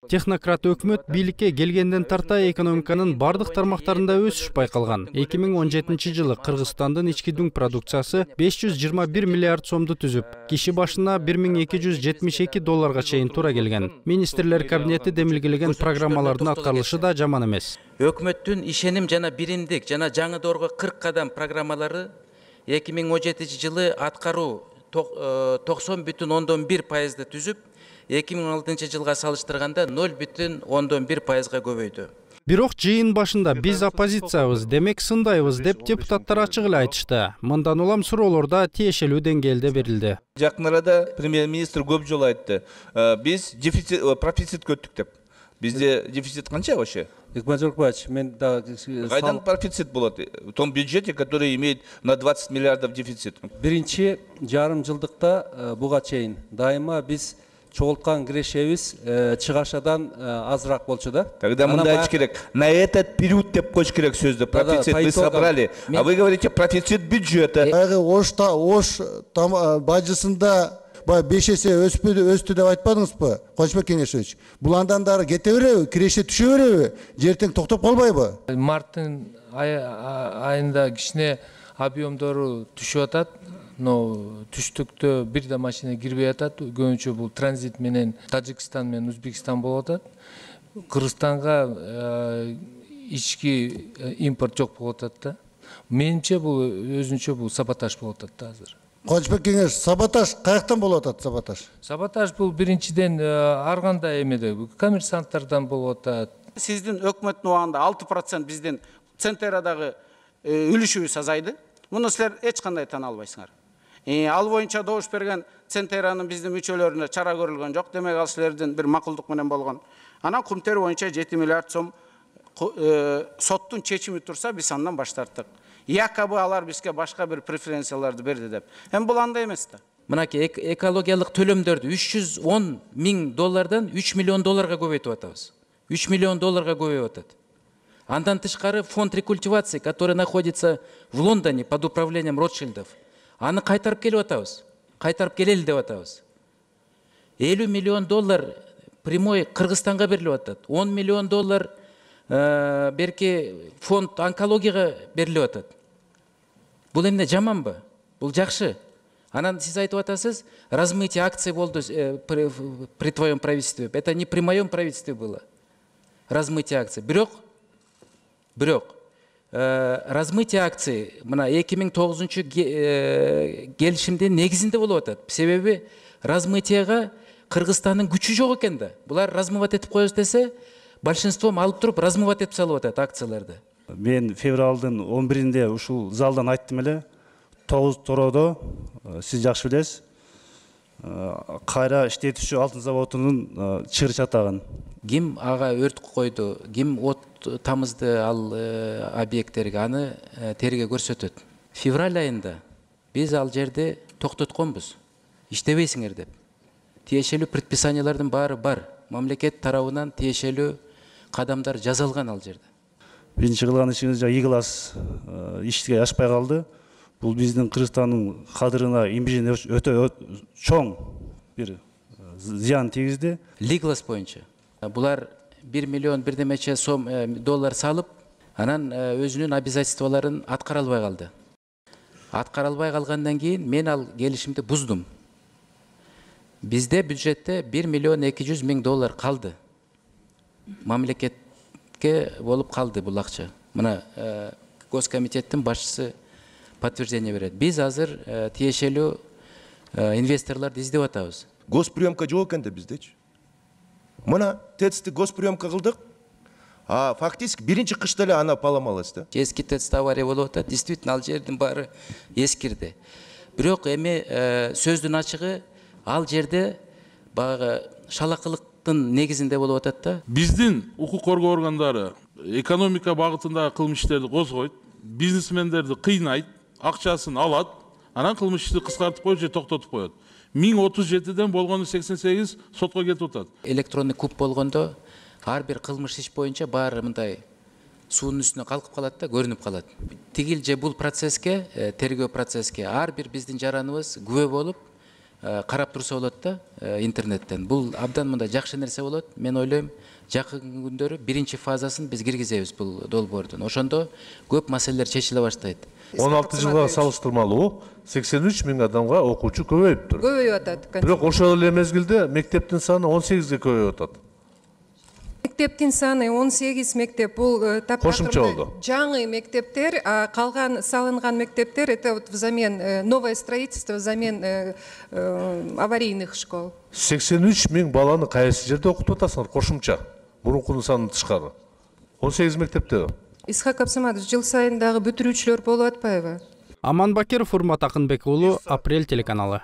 Технократ өкмөт бийликке келгенден тарта экономиканын бардык тармактарында өсүш байкалган. 2017 жылы Кыргызстандын ички дүң продукциясы 521 миллиард сомду түзүп, киши башына $1272 чейин туура келген. Министрлер кабинети демилгелеген программалардын аткарылышы да жаман эмес. Өкмөттүн ишеним жана биримдик жана жаңы 40 кадам программалары 2017 жылы аткаруу 90,1%ды түзүп, 2016 жылга салыштырганда 0,1%га көбөйдү. Бирок жыйын башында биз оппозициябыз, демек сындайбыз деп депутаттар ачык эле айтышты. Мындан улам суроолор да тиешелүү деңгээлде берилди. Жакын арада премьер-министр көп жолу айтты. Биз профицит көттүк деп. Bizde дефицит канча вообще? Мен да кайдан профицит болот? В том бюджете, который имеет на 20 миллиардов дефицит. Биринчи жарым жылдыкта буга чейин дайыма биз чогулткан кирешебиз чыгашадан азыраак болчу да. Тогда мындай айтыш керек. На этот период деп коюш керек сөздү. Профицит мы собрали. А вы говорите профицит бюджета. Ош бажысында 5 эсе өстү деп айтпадыңызбы, Кылычбек Кеңешевич? Бул андан дары кете береби, киреше түшө береби? Жертең токтоп калбайбы? Марттын айында кичине объемдору түшүп атат, но түштүктө бир да машина кирбей атат. Көбүнчө бул транзит менен Тажикстан менен Өзбекстан болуп атат. Кыргызстанга ички импорт жок болуп атат да. Менимче бул өзүнчө бул саботаж болуп атат да азыр. Кылычбек Кеңеш, саботаж каяктан болуп атат саботаж? Саботаж бул биринчиден ар кандай эмеде коммерсанттардан болуп атат. Сиздин өкмөттүн убагында 6% биздин Центерадагы үлүшүбүз азайды. Муну силер эч кандай тана албайсыңар. Ал боюнча добуш берген Центеранын биздин мүчөлөрүнө чара көрүлгөн жок. Демек ал силердин бир макулдук менен болгон. Анан кумтер боюнча 7 миллиард сом соттун чечими турса, биз андан баш тарттык. Якобы алар бизге башка бир преференцияларды берди деп. Бул андай эмес да. Мынакей экологиялык төлөмдөрдү $310 миң 3 миллион долларга көбөйтүп атабыз. 3 миллион долларга көбөйүп атат. Андан тышкары фонд рекультивации, который находится в Лондоне под управлением Ротшильдов, аны кайтарып келип атабыз. Кайтарып келели деп атабыз. $50 миллион прямой Кыргызстанга берилип атат. $10 миллион берки фонд онкологияга берилип атат. Бул эмне жаманбы? Бул жакшы. Анан сиз айтып атасыз, размытие акций болду при твоем правительстве. Это не при моем правительстве было. Размытие акций. Бирок размытие акций мына 2009 келишимдин негизинде болуп атат. Себеби размытияга Кыргызстандын күчү жок экен да. Булар размывать этип коебуз десе, большинством алып туруп размывать этип салып атат акцияларды. Мен февралдын 11-inde ушул залдан айттым эле. 9 тороодо сиз жакшы билесиз. Кайра иштетүүчү алтын заводунун чыр чатагын. Ким ага өрт койду, ким от тамызды ал объекттерге, аны терге көрсөтөт. Февраль айында биз ал жерде токтотконбуз. Иштебейсиңер деп. Тиешелүү предписаниялардын баары бар. Мамлекет тарабынан тиешелүү кадамдар жазылган ал жерде. Биринчи кылган ишибиз ийгилас ишке ашпай калды. Бул биздин Кыргызстандын кадырына, имиджине өтө чоң бир зыян тийгизди. Лиглас боюнча булар 1 миллион бирдемече сом доллар салып, анан өзүнүн обязательстволорун аткара албай калды. Аткара албай калгандан кийин мен ал келишимди буздум. Бизде бюджетте 1 миллион 200 миң доллар калды. Мамлекетке болуп калды бул акча. Мына Госкомитеттин башчысы подтверждение берет. Биз азыр тиешелүү инвесторлорду издеп атабыз. Госприемка жок экен да биздечи. Мына ТЭЦти госприемка кылдык. Фактически биринчи кышта эле аны паламалась да. Эски ТЭЦте авария болуп атат. Действительно ал жердин баары эскирди. Бирок эми сөздүн ачыгы ал жерде баягы шалакылыктын негизинде болуп атат да. Биздин укук коргоо органдары экономика багытындагы кылмыш иштерди козгойт, бизнесмендерди кыйнайт, акчасын алат, анан кылмыш ишти кыскартып коюп же токтотуп коет. 1037ден болгону 88 сотко кетип атат. Электронный куб болгондо ар бир кылмыш иш боюнча баары мындай суунун үстүнө калкып калат да, көрүнүп калат. Тигил же бул процесске, тергөө процесске ар бир биздин жараныбыз күбө болуп, карап турса болот да интернеттен. Бул абдан мындай жакшы нерсе болот. Мен ойлойм, жакын күндөрү биринчи фазасын биз киргизебиз бул долбоордун. Ошондо көп маселелер чечиле баштайт. 16 жылга салыштырмалуу 83 миң адамга окуучу көбөйүптүр. Көбөйүп атат. Бирок ошол эле мезгилде мектептин саны 18ге көбөйүп атат. Мектептин саны 18 мектеп, бул кошумча болду. Жаңы мектептер, калган салынган мектептер это вот взамен новое строительство, взамен аварийных школ. 83 миң баланы кайсы жерде окутуп атасыңар кошумча? Мурункунун санынан тышкары. 18 мектепте. Исхак Абсаматович, жыл сайын дагы бүтүрүүчүлөр болуп атпайбы? Аман Бакиров, Урмат Акынбек уулу, Апрель телеканалы.